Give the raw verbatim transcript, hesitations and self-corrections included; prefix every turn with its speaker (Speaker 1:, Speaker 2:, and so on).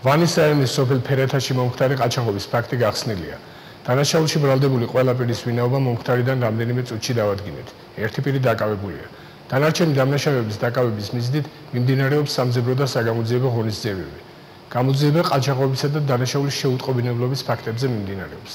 Speaker 1: ვანის რაიონის სოფელ ფერეთაში მომხდარი ყაჩაღობის ფაქტი გახსნილია. დანაშაულში ბრალდებული ყველა პირის ვინაობა მომხდარიდან რამდენიმე წუთში დავადგინეთ. ერთი პირი დაკავებულია. დანარჩენი დამნაშავეების დაკავების მიზნით მიმდინარეობს სამძებრო და საგამოძიებო ღონისძიებები. გამოძიება ყაჩაღობისა და დანაშაულის შეუტყობინებლობის ფაქტებზე მიმდინარეობს.